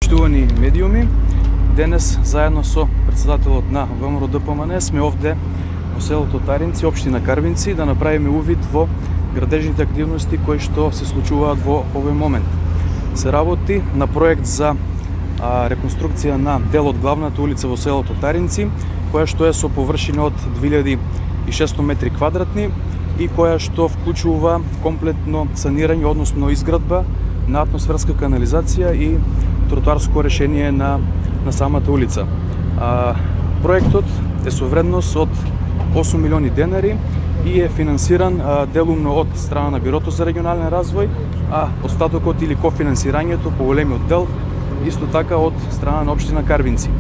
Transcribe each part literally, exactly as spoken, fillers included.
Почитувани медиуми, денес заедно со председателот на ВМРО-ДПМН сме овде во селото Таринци, општина Карвинци, да направиме увид во градежните активности кои што се случуваат во овој момент. Се работи на проект за а, реконструкција на дел од главната улица во селото Таринци, која што е со површина од две илјади и шестоста метри квадратни и која што вклучува комплетно санирање, односно изградба на атмосферска канализација и тротоарско решение на, на самата улица. А, проектот е со вредност од осум милиони денари и е финансиран а, делумно од страна на Бирото за регионален развој, а остатокот или кофинансирањето по големиот дел исто така од страна на општина Карвинци.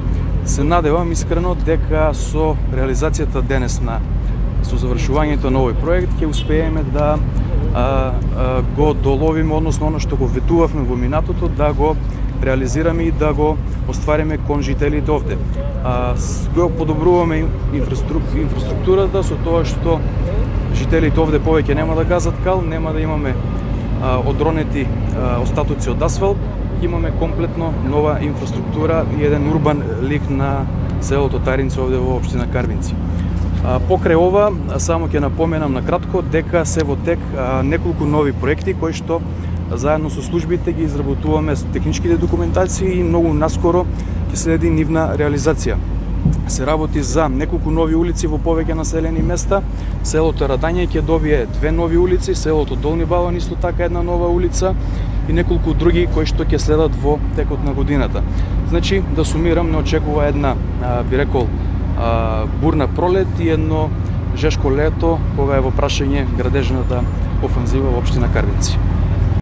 Се надевам искрено дека со реализацијата денес на со завршувањето на овој проект ќе успееме да а, а, го доловиме, односно оно што го ветувавме во минатото, да го реализираме и да го оствариме кон жителите овде. А, го подобруваме инфраструктурата со тоа што жителите овде повеќе нема да газат кал, нема да имаме а, одронети а, остатоци од асфалт, имаме комплетно нова инфраструктура и еден урбан лик на селото Таринци овде во општина Карвинци. А, покрај ова, само ќе напоменам на кратко дека се во тек а, неколку нови проекти кои што заедно со службите ги изработуваме техничките документации и многу наскоро ќе следи нивна реализација. Се работи за неколку нови улици во повеќе населени места. Селото Радање ќе добие две нови улици, селото Долни Балван исто така една нова улица и неколку други кои што ќе следат во текот на годината. Значи, да сумирам, не очекува една, а, би рекол, а, бурна пролет и едно жешко лето кога е во прашање градежната офанзива во општина Карвинци.